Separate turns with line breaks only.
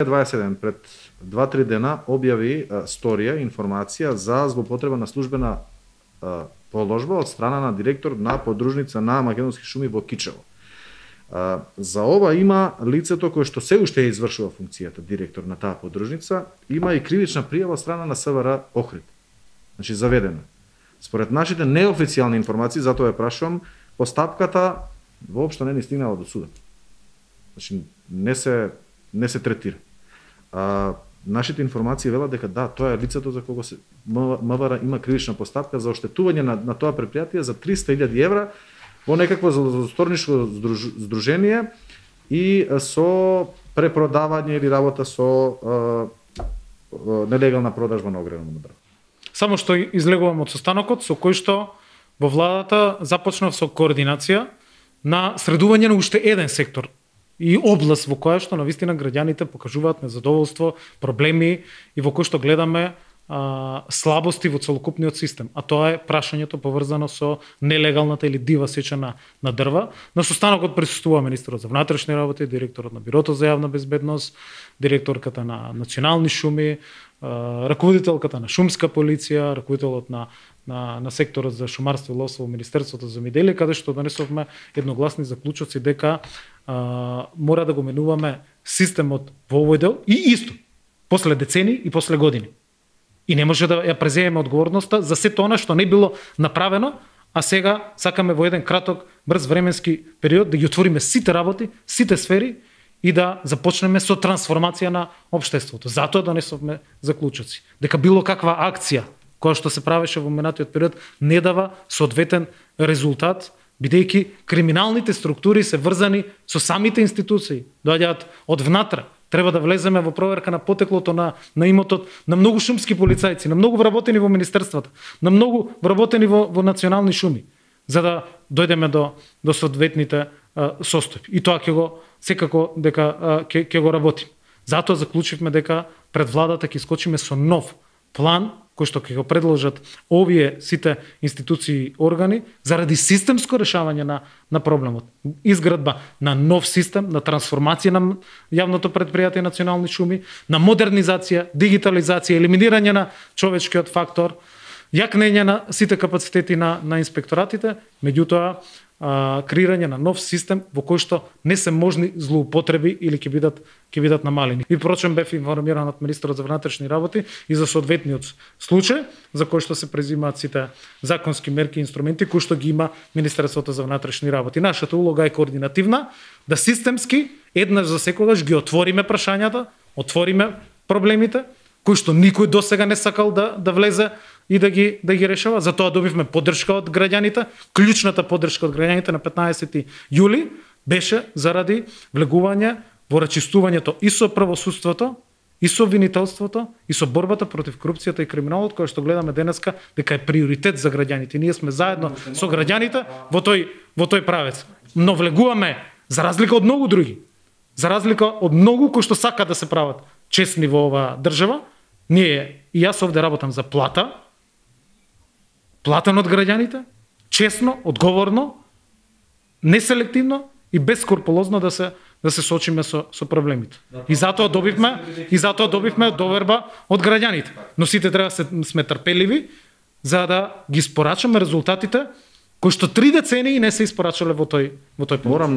27 пред 2-3 дена објави сторија, информација за злоупотреба на службена положба од страна на директор на подружница на Македонски шуми во Кичево. За ова има лицето кое што се уште извршува функцијата директор на таа подружница, има и кривична пријава од страна на СВР Охрид. Значи заведена. Според нашите неофицијални информации, затоа ја прашувам, постапката воопшто не ни стигнала до судот. Значи не се третира. Нашите информации велат дека да, тоа е лицето за кого се МВР има кривична постапка за оштетување на тоа предпријатие за 300.000 евра во некакво злосторничко здружение и со препродавање или работа со нелегална продажба на огревано дрво.
Само што излегувам од состанокот со кој што во владата започнав со координација на средување на уште еден сектор и област во која што навистина граѓаните покажуваат незадоволство, проблеми и во кој што гледаме слабости во целокупниот систем, а тоа е прашањето поврзано со нелегалната или дива сеча на дрва. На состанокот присуствува министерот за внатрешни работи, директорот на Бирото за јавна безбедност, директорката на Национални шуми, раководителката на шумска полиција, раководителот на секторот за шумарство и ловство во Министерството за земјоделие, каде што донесовме едногласни заклучоци дека мора да го менуваме системот во овој дел и исто после децени и после години. И не може да ја преземеме одговорноста за сето она што не било направено, а сега сакаме во еден краток, брз временски период да ги отвориме сите работи, сите сфери и да започнеме со трансформација на општеството. Затоа донесовме заклучоци. Дека било каква акција која што се правеше во минатиот период не дава соодветен резултат, бидејќи криминалните структури се врзани со самите институции, доаѓаат од внатре. Треба да влеземе во проверка на потеклото на имотот на многу шумски полицајци, на многу вработени во министерствата, на многу вработени во национални шуми, за да дојдеме до соодветните состојби. И тоа секако дека ќе го работим. Затоа заклучивме дека пред владата ќе искочиме со нов план кој што ќе го предложат овие сите институции и органи заради системско решавање на проблемот. Изградба на нов систем, на трансформација на јавното предпријатие Национални шуми, на модернизација, дигитализација, елиминирање на човечкиот фактор, јакнење на сите капацитети на инспекторатите, меѓутоа креирање на нов систем во кој што не се можни злоупотреби или ќе бидат намалени. И впрочем бев информиран од министерот за внатрешни работи и за соодветниот случај за кој што се презимаат сите законски мерки и инструменти кои што ги има Министерството за внатрешни работи. Нашата улога е координативна, да системски еднаш за секогаш ги отвориме прашањата, отвориме проблемите кои што никој досега не сакал да влезе и да ги решава. Затоа добивме поддршка од граѓаните. Клучната поддршка од граѓаните на 15 јули беше заради влегување во рачистувањето и со правосудството, и со обвинителството, и со борбата против корупцијата и криминалот, која што гледаме денеска дека е приоритет за граѓаните. Ние сме заедно со граѓаните во тој правец. Но влегуваме за разлика од многу други, за разлика од многу кои што сакаат да се прават честни во оваа држава, ние и јас овде работам за платен од граѓаните, честно, одговорно, неселективно и бескрупулозно да се соочиме со проблемите. И затоа добивме доверба од граѓаните. Но сите треба сме трпеливи за да ги испорачаме резултатите кои што 3 децении не се испорачале во тој период.